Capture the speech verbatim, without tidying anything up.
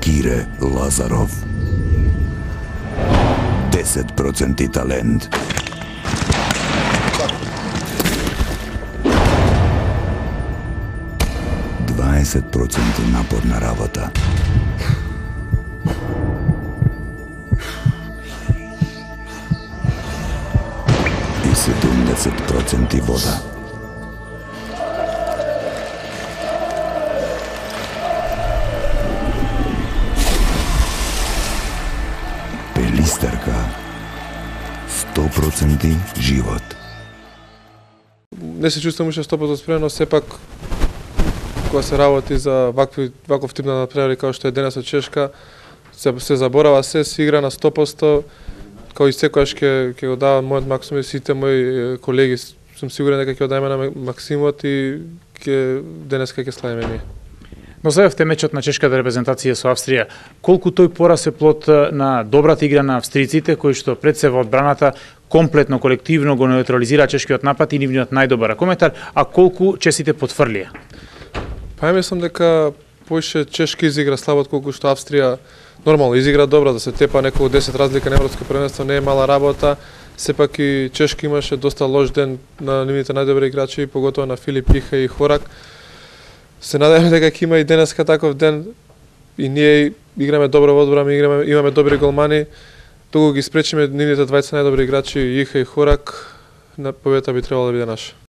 Кире Лазаров. десет проценти талент. дваесет проценти напорна работа. И седумдесет проценти вода. Пелистерка. сто проценти живот. Не се чувствувам уште сто проценти спремен, но сепак кога се работи за вакви ваков тип на надпревари како што е денес од Чешка, се, се заборава се, се игра на сто проценти, како и секогаш ќе ќе го давам мојот максимум и сите мои колеги, сум сигурен дека ќе го дадеме на максимумот и ќе денеска ќе славиме ние. Но следевте мечот на чешката репрезентација со Австрија. Колку тој пораз е плод на добрата игра на австриците, кои што пред се во одбраната комплетно, колективно го неутрализира чешкиот напад и нивниот најдобар коментар, а колку чесите потврлија? Па ја мислам дека поише Чешка изигра слабо колку што Австрија нормално изигра добро, да се тепа неколку десет разлика на европско првенство не е мала работа. Сепак и Чешка имаше доста лош ден на нивните најдобри играчи, поготово на Филип Иха и Хорак. Се надеваме дека ќе има и денеска таков ден и ние играме добро во одбрана, играме, имаме добри голмани. Туку ги спречиме нивните двајца најдобри играчи Иха и Хорак, на победата би требало да биде наша.